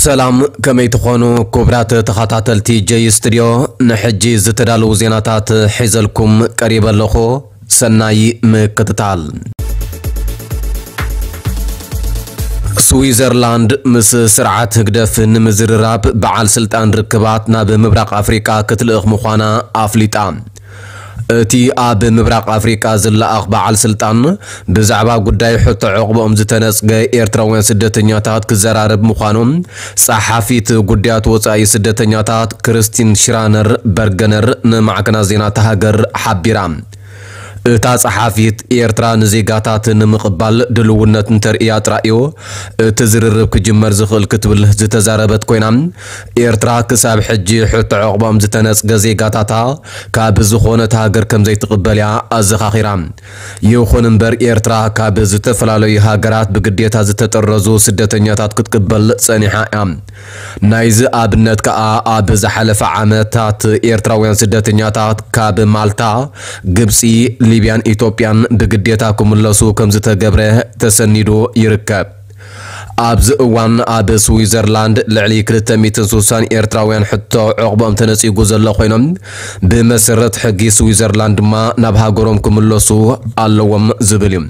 ሰላም፣ ከመይ ትኾኑ ክቡራት ተኸታተልቲ ጀይ ስቱድዮ? ንሕጂ ዝተዳለዉ ዜናታት ሒዘልኩም ቀሪበ ኣለኹ። ሰናይ ምክትታል። ስዊዘርላንድ ምስ ስርዓት ህግደፍ ንምዝርራብ በዓል ስልጣን ርክባት ናብ ምብራቕ ኣፍሪቃ ክትልእኽ ምዃና ኣፍሊጣ። እቲ ኣብ ምብራቕ ኣፍሪቃ ዝለኣኽ በዓል ስልጣን ብዛዕባ ጉዳይ ሕቶ ዕቑባኦም ዝተነጽገ ኤርትራውያን ስደተኛታት ክዘራረብ ምዃኑ ጸሓፊት ጉዳያት ወጻኢ ስደተኛታት ክርስቲን ሽራነር በርገነር ንማዕከናት ዜና እታ ሃገር ሓቢራ። እታ ጸሓፊት፣ ኤርትራ ንዜጋታት ንምቕባል ድልውነት እንተርእያ ጥራይ እዩ እቲ ዝርርብ ክጅመር ዝኽእል ክትብል ዝተዛረበት ኮይና፣ ኤርትራ ክሳብ ሕጂ ሕቶ ዕቑባኦም ዝተነጽገ ዜጋታታ ካብ ዝኾነት ሃገር ከም ዘይትቕበል እያ ኣዘኻኺራ። ይኹን እምበር፣ ኤርትራ ካብ ዝተፈላለዩ ሃገራት ብግዴታ ዝተጠረዙ ስደተኛታት ክትቅበል ጸኒሓ እያ። ናይዚ ኣብነት ከኣ፣ ኣብ ዝሓለፈ ዓመታት ኤርትራውያን ስደተኛታት ካብ ማልታ፣ ግብጺ፣ ሊብያን ኢትዮጵያን ብግዴታ ክምለሱ ከም ዝተገብረ ተሰኒዱ ይርከብ። ኣብዚ እዋን ኣብ ስዊዘርላንድ ልዕሊ ክልተ ሚእትን ስሳን ኤርትራውያን ሕቶ ዕቑቦም ተነጺጉ ዘሎ ኮይኖም፣ ብመሰረት ሕጊ ስዊዘርላንድ ድማ ናብ ሃገሮም ክምለሱ ኣለዎም ዝብል እዩ።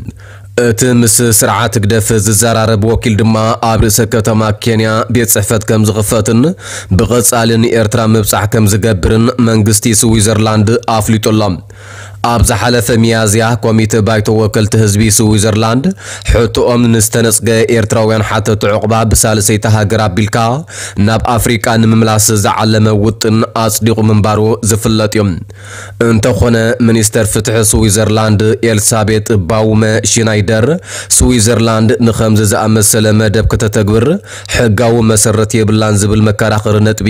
እቲ ምስ ስርዓት ህግደፍ ዝዘራረብ ወኪል ድማ፣ ኣብ ርእሰ ከተማ ኬንያ ቤት ጽሕፈት ከም ዝኽፈትን ብቐጻሊ ንኤርትራ ምብጻሕ ከም ዝገብርን መንግስቲ ስዊዘርላንድ ኣፍሊጡ ኣሎ። ኣብ ዝሓለፈ ሚያዝያ፣ ኮሚተ ባይቶ ወከልቲ ህዝቢ ስዊዘርላንድ፣ ሕቶኦም ንዝተነጽገ ኤርትራውያን ሓተቲ ዕቑባ ብሳልሰይቲ ሃገር ኣቢልካ ናብ ኣፍሪቃ ንምምላስ ዝዓለመ ውጥን ኣጽዲቑ ምንባሩ ዝፍለጥ እዩ። እንተኾነ፣ ሚኒስተር ፍትሒ ስዊዘርላንድ ኤልሳቤጥ ባውመ ሽናይደር፣ ስዊዘርላንድ ንኸምዚ ዝኣመሰለ መደብ ከተተግብር ሕጋዊ መሰረት የብላን ዝብል መከራኸሪ ነጥቢ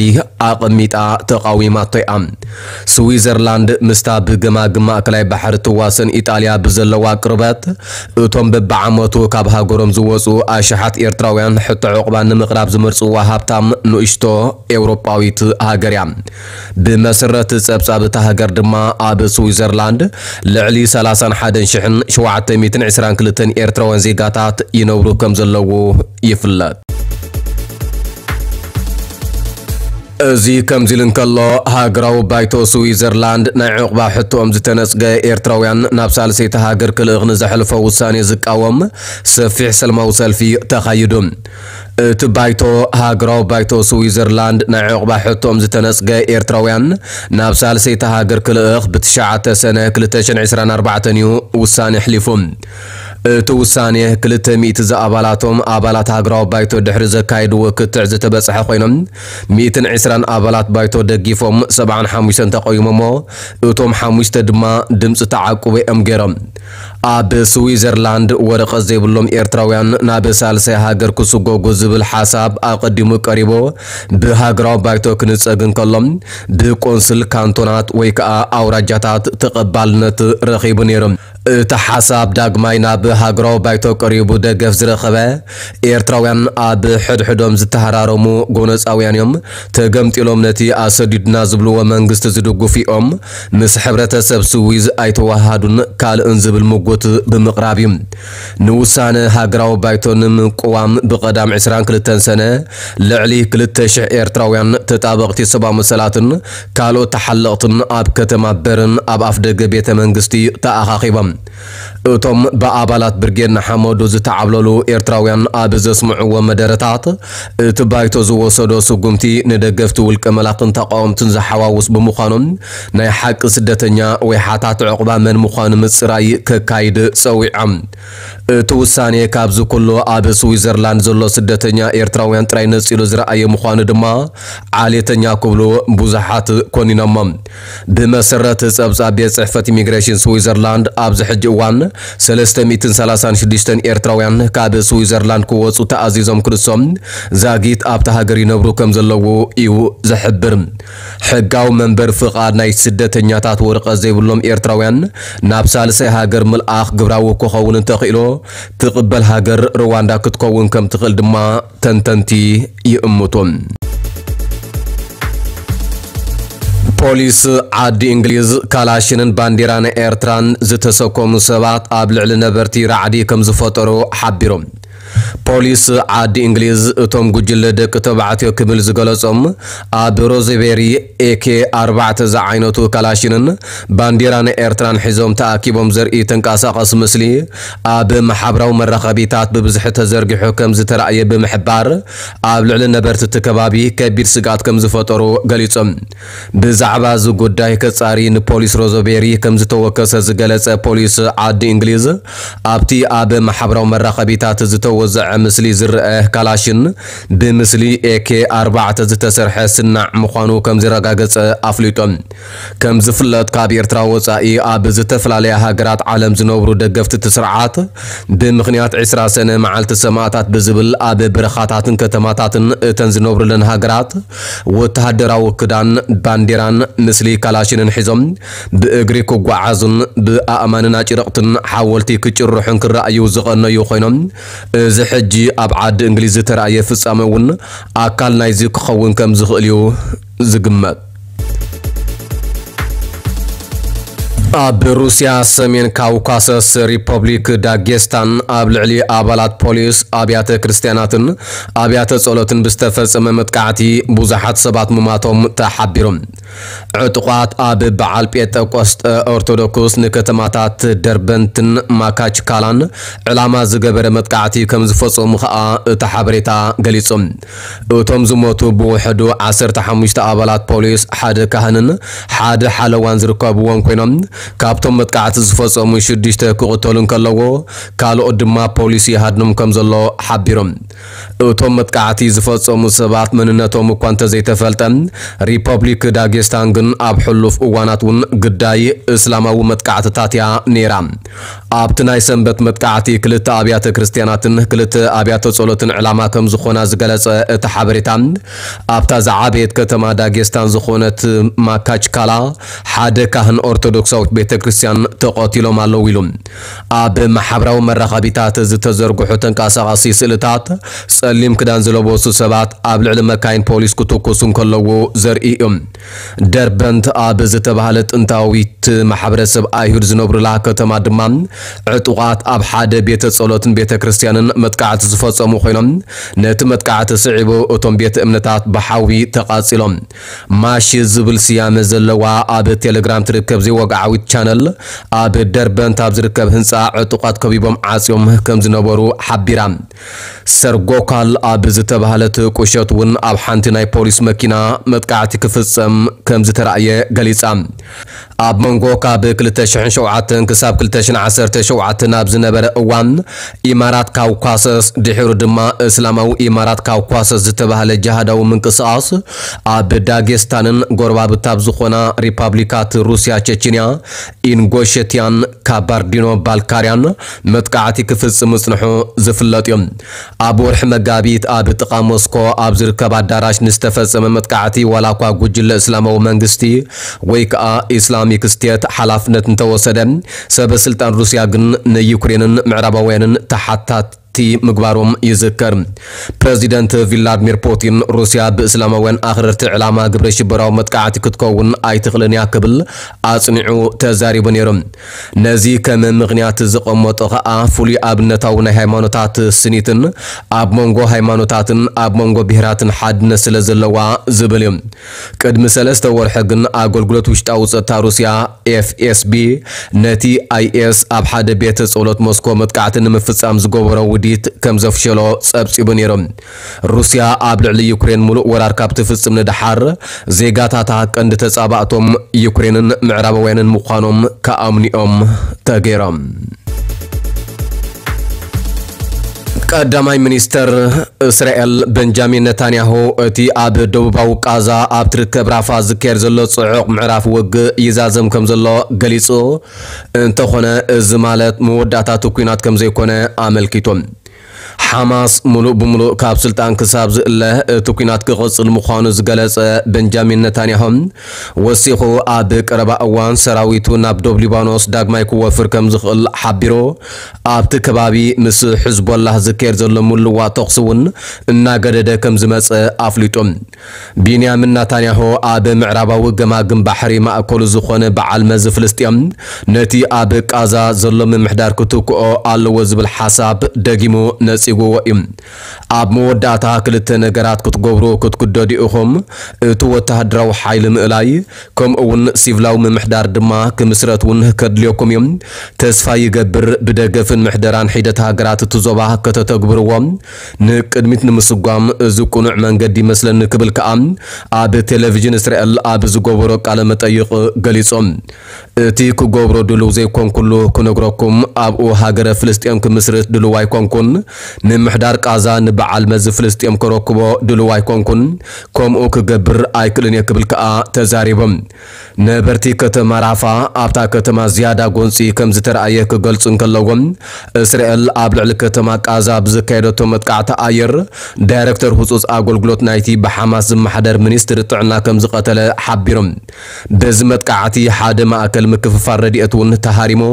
ኣቐሚጣ ተቓዊማቶ እያ። ስዊዘርላንድ ምስታ ብገማግም ማእከላይ ባሕሪ ትዋሰን ኢጣልያ ብዘለዋ ቅርበት፣ እቶም በብዓመቱ ካብ ሃገሮም ዝወጹ ኣሽሓት ኤርትራውያን ሕቶ ዕቑባ ንምቕራብ ዝመርጽዋ ሃብታም ንእሽቶ ኤውሮጳዊት ሃገር እያ። ብመሰረት ጸብጻብ እታ ሃገር ድማ፣ ኣብ ስዊዘርላንድ ልዕሊ ሰላሳን ሓደን ሽሕን ሸውዓተ ሚእትን ዕስራን ክልተን ኤርትራውያን ዜጋታት ይነብሩ ከም ዘለዉ ይፍለጥ። እዚ ከምዚ ኢሉ እንከሎ፣ ሃገራዊ ባይቶ ስዊዘርላንድ ናይ ዕቑባ ሕቶኦም ዝተነጽገ ኤርትራውያን ናብ ሳልሰይቲ ሃገር ክልእኽ ንዘሕልፎ ውሳኔ ዝቃወም ሰፊሕ ሰልማዊ ሰልፊ ተኻይዱ። እቲ ባይቶ፣ ሃገራዊ ባይቶ ስዊዘርላንድ ናይ ዕቑባ ሕቶኦም ዝተነጽገ ኤርትራውያን ናብ ሳልሰይቲ ሃገር ክልእኽ ብትሽዓተ ሰነ ክልተ ሽሕን ዕስራን ኣርባዕተን እዩ ውሳኔ ኣሕሊፉ። እቲ ውሳኔ ክልተ ሚእቲ ዝኣባላቶም ኣባላት ሃገራዊ ባይቶ ድሕሪ ዘካየድዎ ክትዕ ዝተበጽሐ ኮይኖም፣ ሚእትን ዕስራን ኣባላት ባይቶ ደጊፎም፣ ሰብዓን ሓሙሽተን ተቃዊሞሞ፣ እቶም ሓሙሽተ ድማ ድምጺ ተዓቁቦ እዮም ገይሮም። ኣብ ስዊዘርላንድ ወረቐት ዘይብሎም ኤርትራውያን ናብ ሳልሳይ ሃገር ክስጎጉ ዝብል ሓሳብ ኣቐዲሙ ቀሪቡ ብሃገራዊ ባይቶ ክንጸግ እንከሎ፣ ብቆንስል ካንቶናት ወይ ከኣ ኣውራጃታት ተቐባልነት ረኺቡ ነይሩ። እቲ ሓሳብ ዳግማይ ናብ ሃገራዊ ባይቶ ቀሪቡ ደገፍ ዝረኸበ፣ ኤርትራውያን ኣብ ሕድሕዶም ዝተሃራረሙ ጎነጻውያን እዮም፣ ተገምጢሎም ነቲ ኣሰዲዱና ዝብልዎ መንግስቲ ዝድግፉ እዮም፣ ምስ ሕብረተሰብ ስዊዝ ኣይተዋሃዱን ካልእን ዝብል ምጉት ብምቕራብ እዩ። ንውሳነ ሃገራዊ ባይቶ ንምቅዋም ብቐዳም ዕስራን ክልተን ሰነ ልዕሊ ክልተ ሽሕ ኤርትራውያን ተጣበቕቲ ሰብኣዊ መሰላትን ካልኦት ተሓለቕትን ኣብ ከተማ በርን ኣብ ኣፍደገ ቤተ መንግስቲ ተኣኻኺቦም። እቶም ብኣባላት ብርጌድ ንሓመዱ ዝተዓብለሉ ኤርትራውያን ኣብ ዘስምዕዎ መደረታት፣ እቲ ባይቶ ዝወሰዶ ስጉምቲ ንደገፍቲ ውልቀ መላኽን ተቃወምትን ዝሓዋውስ ብምዃኑ፣ ናይ ሓቂ ስደተኛ ወይ ሓታት ዕቑባ መን ምዃኑ ምጽራይ ከካይድ ጸዊዖም። እቲ ውሳኔ ካብዚ ኩሉ ኣብ ስዊዘርላንድ ዘሎ ስደተኛ ኤርትራውያን ጥራይ ነጺሉ ዝረኣየ ምዃኑ ድማ ዓሌተኛ ክብሉ ብዙሓት ኮኒኖሞ። ብመሰረት ጸብጻብ ቤት ጽሕፈት ኢሚግሬሽን ስዊዘርላንድ፣ ኣብዚ ሕጂ እዋን ሰለስተ ሚእትን ሰላሳን ሽዱሽተን ኤርትራውያን ካብ ስዊዘርላንድ ክወጹ ተኣዚዞም ክንሶም ዛጊት ኣብታ ሃገር ይነብሩ ከም ዘለዉ እዩ ዝሕብር። ሕጋዊ መንበሪ ፍቓድ ናይ ስደተኛታት ወረቐት ዘይብሎም ኤርትራውያን ናብ ሳልሳይ ሃገር ምልኣኽ ግብራዊ ክኸውን እንተኽኢሉ፣ ትቕበል ሃገር ሩዋንዳ ክትከውን ከም ትኽእል ድማ ተንተንቲ ይእምቱ። ፖሊስ ዓዲ እንግሊዝ፣ ካላሽንን ባንዲራን ኤርትራን ዝተሰከሙ ሰባት ኣብ ልዕሊ ነበርቲ ራዕዲ ከም ዝፈጠሩ ሓቢሮም። ፖሊስ ዓዲ እንግሊዝ እቶም ጉጅለ ደቂ ተባዕትዮ ክብል ዝገለጾም ኣብ ሮዝቤሪ ኤኬ ኣርባዕተ ዝዓይነቱ ካላሽንን ባንዲራን ኤርትራን ሒዞም ተኣኪቦም ዘርኢ ተንቀሳቐሲ ምስሊ ኣብ ማሕበራዊ መራኸቢታት ብብዝሒ ተዘርጊሑ ከም ዝተራእየ ብምሕባር፣ ኣብ ልዕሊ ነበርቲ እቲ ከባቢ ከቢድ ስግኣት ከም ዝፈጠሩ ገሊጾም። ብዛዕባ እዚ ጉዳይ ከጻሪ ንፖሊስ ሮዝቤሪ ከም ዝተወከሰ ዝገለጸ ፖሊስ ዓዲ እንግሊዝ፣ ኣብቲ ኣብ ማሕበራዊ መራኸቢታት ዝተወዘዐ ምስሊ ዝረአ ካላሽን ብምስሊ ኤኬ ኣርባዕተ ዝተሰርሐ ስናዕ ምዃኑ ከም ዘረጋገጸ ኣፍሊጡ። ከም ዝፍለጥ፣ ካብ ኤርትራ ወጻኢ ኣብ ዝተፈላለያ ሃገራት ዓለም ዝነብሩ ደገፍቲ እቲ ስርዓት፣ ብምኽንያት ዕስራ ሰነ መዓልቲ ሰማእታት ብዝብል ኣብ በረኻታትን ከተማታትን እተን ዝነብሩለን ሃገራት ወተሃደራዊ ክዳን፣ ባንዴራን ምስሊ ካላሽንን ሒዞም ብእግሪ ክጓዓዙን ብኣእማንን ኣጭርቕትን ሓወልቲ ክጭርሑን ክረኣዩ ዝቐነዩ ኮይኖም፣ እዚ ሕጂ ኣብ ዓዲ እንግሊዝ ዝተራእየ ፍጻመ እውን ኣካል ናይዚ ክኸውን ከም ዝኽእል እዩ ዝግመት። ኣብ ሩስያ ሰሜን ካውካሰስ ሪፐብሊክ ዳጌስታን ኣብ ልዕሊ ኣባላት ፖሊስ ኣብያተ ክርስትያናትን ኣብያተ ጸሎትን ብዝተፈጸመ መጥቃዕቲ ብዙሓት ሰባት ምማቶም ተሓቢሩ። ዕጡቓት ኣብ በዓል ጴንጠቆስጠ ኦርቶዶክስ ንከተማታት ደርበንትን ማካችካላን ዕላማ ዝገበረ መጥቃዕቲ ከም ዝፈጸሙ ከኣ እቲ ሓበሬታ ገሊጹ። እቶም ዝሞቱ ብውሕዱ ዓሰርተ ሓሙሽተ ኣባላት ፖሊስ፣ ሓደ ካህንን ሓደ ሓለዋን ዝርከብዎም ኮይኖም፣ ካብቶም መጥቃዕቲ ዝፈጸሙ ሽዱሽተ ክቕተሉ እንከለዎ፣ ካልኦት ድማ ፖሊስ ይሃድኖም ከም ዘሎ ሓቢሮም። እቶም መጥቃዕቲ ዝፈጸሙ ሰባት መንነቶም እኳ እንተዘይተፈልጠ፣ ሪፐብሊክ ዳጌስታን ግን ኣብ ሕሉፍ እዋናት እውን ግዳይ እስላማዊ መጥቃዕትታት እያ ነይራ። ኣብቲ ናይ ሰንበት መጥቃዕቲ ክልተ ኣብያተ ክርስትያናትን ክልተ ኣብያተ ጸሎትን ዕላማ ከም ዝኾና ዝገለጸ እቲ ሓበሬታ፣ ኣብታ ዝዓበየት ከተማ ዳጌስታን ዝኾነት ማካችካላ ሓደ ካህን ኦርቶዶክሳዊት ቤተ ክርስትያን ተቐቲሎም ኣለዉ ኢሉ። ኣብ ማሕበራዊ መራኸቢታት ዝተዘርግሑ ተንቀሳቓሲ ስእልታት፣ ጸሊም ክዳን ዝለበሱ ሰባት ኣብ ልዕሊ መካይን ፖሊስ ክትኩሱ እንከለዉ ዘርኢ እዩ። ደርበንት ኣብ ዝተባህለ ጥንታዊት ማሕበረሰብ ኣይሁድ ዝነብሩላ ከተማ ድማ፣ ዕጡቓት ኣብ ሓደ ቤተ ጸሎትን ቤተ ክርስትያንን መጥቃዕቲ ዝፈጸሙ ኮይኖም፣ ነቲ መጥቃዕቲ ስዒቡ እቶም ቤተ እምነታት ብሓዊ ተቓጺሎም። ማሺ ዝብል ስያመ ዘለዋ ኣብ ቴሌግራም ትርከብ ዘይወግዓዊት ቻነል፣ ኣብ ደርበንት ኣብ ዝርከብ ህንጻ ዕጡቓት ከቢቦም ዓጽዮም ከም ዝነበሩ ሓቢራ። ሰርጎካል ኣብ ዝተባህለት ቁሸት እውን ኣብ ሓንቲ ናይ ፖሊስ መኪና መጥቃዕቲ ክፍጸም ከም ዝተራእየ ገሊጻ። ኣብ መንጎ ካብ ክልተ ሽሕን ሸውዓተን ክሳብ ክልተ ሽሕን ዓሰርተ ሸውዓተን ኣብ ዝነበረ እዋን፣ ኢማራት ካውካሰስ፣ ድሒሩ ድማ እስላማዊ ኢማራት ካውካሰስ ዝተባህለ ጅሃዳዊ ምንቅስቓስ፣ ኣብ ዳጌስታንን ጎረባብታ ኣብ ዝኾና ሪፓብሊካት ሩስያ፣ ቸችንያ፣ ኢንጎሸትያን ካባርዲኖ ባልካርያን መጥቃዕቲ ክፍጽም ምጽንሑ ዝፍለጥ እዩ። ኣብ ወርሒ መጋቢት ኣብ ጥቓ ሞስኮ ኣብ ዝርከብ ኣዳራሽ ንዝተፈጸመ መጥቃዕቲ፣ ዋላ እኳ ጉጅለ እስላማዊ መንግስቲ ወይ ከኣ ኢስላሚክ ስቴት ሓላፍነት እንተወሰደ፣ ሰበ ስልጣን ሩስያ ግን ንዩክሬንን ምዕራባውያንን ተሓታቲ ምግባሮም ይዝከር። ፕረዚደንት ቪላድሚር ፑቲን፣ ሩስያ ብእስላማውያን ኣኽረርቲ ዕላማ ግብረ ሽበራዊ መጥቃዕቲ ክትከውን ኣይትኽእልን እያ ክብል ኣጽኒዑ ተዛሪቡ ነይሩ። ነዚ ከም ምኽንያት ዝቐመጦ ኸኣ፣ ፍሉይ ኣብነታዊ ናይ ሃይማኖታት ስኒትን ኣብ መንጎ ሃይማኖታትን ኣብ መንጎ ብሄራትን ሓድነት ስለ ዘለዋ ዝብል እዩ። ቅድሚ ሰለስተ ወርሒ ግን፣ ኣገልግሎት ውሽጣዊ ጸጥታ ሩስያ፣ ኤፍ ኤስ ቢ፣ ነቲ ኣይ ኤስ ኣብ ሓደ ቤተ ጸሎት ሞስኮ መጥቃዕቲ ንምፍጻም ዝገበሮ ውዲት ከም ዘፍሸሎ ጸብጺቡ ነይሩ። ሩስያ ኣብ ልዕሊ ዩክሬን ምሉእ ወራር ካብ ትፍጽም ንደሓር፣ ዜጋታታ ቀንዲ ተጻባእቶም ዩክሬንን ምዕራባውያንን ምዃኖም ክኣምኑኦም ተገይሮም። ቀዳማይ ሚኒስተር እስራኤል በንጃሚን ነታንያሁ፣ እቲ ኣብ ደቡባዊ ቃዛ ኣብ ትርከብ ራፋ ዝካየድ ዘሎ ጽዑቕ ምዕራፍ ውግእ ይዛዘም ከም ዘሎ ገሊጹ። እንተኾነ፣ እዚ ማለት መወዳእታ እቲ ኲናት ከም ዘይኮነ ኣመልኪቱ። ሓማስ ምሉእ ብምሉእ ካብ ስልጣን ክሳብ ዝእለ፣ እቲ ኲናት ክቕጽል ምዃኑ ዝገለጸ በንጃሚን ነታንያሁ፣ ወሲኹ፣ ኣብ ቀረባ እዋን ሰራዊቱ ናብ ዶብ ሊባኖስ ዳግማይ ክወፍር ከም ዝኽእል ሓቢሩ፣ ኣብቲ ከባቢ ምስ ሕዝቦላህ ዝካየድ ዘሎ ምልዋጥ ተኹሲ እውን እናገደደ ከም ዝመጸ ኣፍሊጡ። ቢንያሚን ናታንያሁ፣ ኣብ ምዕራባዊ ገማግም ባሕሪ ማእከሉ ዝኾነ በዓል መዚ ፍልስጤም፣ ነቲ ኣብ ቃዛ ዘሎ ምምሕዳር ክትክኦ ኣለዎ ዝብል ሓሳብ ደጊሙ ነጺጉ። ዎ እዩ። ኣብ መወዳእታ ክልተ ነገራት ክትገብሩ ክትግደዱ ኢኹም። እቲ ወተሃደራዊ ሓይሊ ምእላይ፣ ከምኡ እውን ሲቪላዊ ምምሕዳር ድማ ክምስረት እውን ከድልየኩም እዩ። ተስፋ ይገብር፣ ብደገፍን ምሕደራን ሒደት ሃገራት እቲ ዞባ ከተተግብርዎ ንቅድሚት ንምስጓም እዚ ቅኑዕ መንገዲ ይመስለኒ ክብል ከኣ ኣብ ቴሌቪዥን እስራኤል ኣብ ዝገበሮ ቃለ መጠይቕ ገሊጹ። እቲ ክገብሮ ድሉው ዘይኮንኩሉ ክነግረኩም፣ ኣብኡ ሃገረ ፍልስጤም ክምስርት ድሉው ኣይኮንኩን። ምምሕዳር ቃዛ ንበዓል መዚ ፍልስጤም ከረክቦ ድሉው ኣይኮንኩን። ከምኡ ክገብር ኣይክእልን እየ ክብል ከኣ ተዛሪቡ። ነበርቲ ከተማ ራፋ ኣብታ ከተማ ዝያዳ ጎንፂ ከም ዝተረኣየ ክገልጹ እንከለዎም፣ እስራኤል ኣብ ልዕሊ ከተማ ቃዛ ብዘካየደቶ መጥቃዕቲ ኣየር ዳይረክተር ህጹጽ ኣገልግሎት ናይቲ ብሓማስ ዝመሓደር ሚኒስትሪ ጥዕና ከም ዝቐተለ ሓቢሮም። በዚ መጥቃዕቲ ሓደ ማእከል ምክፍፋል ረድኤት እውን ተሃሪሞ፣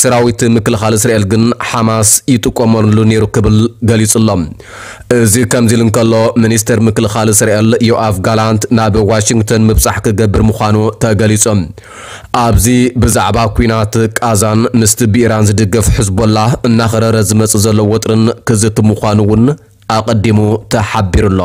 ሰራዊት ምክልኻል እስራኤል ግን ሓማስ ይጥቀመሉ ነይሩ ክብል ገሊጹ ኣሎ። እዚ ከምዚ ኢሉ እንከሎ፣ ሚኒስተር ምክልኻል እስራኤል ዮኣፍ ጋላንት ናብ ዋሽንግተን ምብጻሕ ክገብር ምዃኑ ተገሊጹ። ኣብዚ ብዛዕባ ኲናት ቃዛን ምስቲ ብኢራን ዝድገፍ ሕዝቦላ እናኸረረ ዝመጽእ ዘሎ ወጥርን ክዝቲ ምዃኑ እውን ኣቐዲሙ ተሓቢሩ ኣሎ።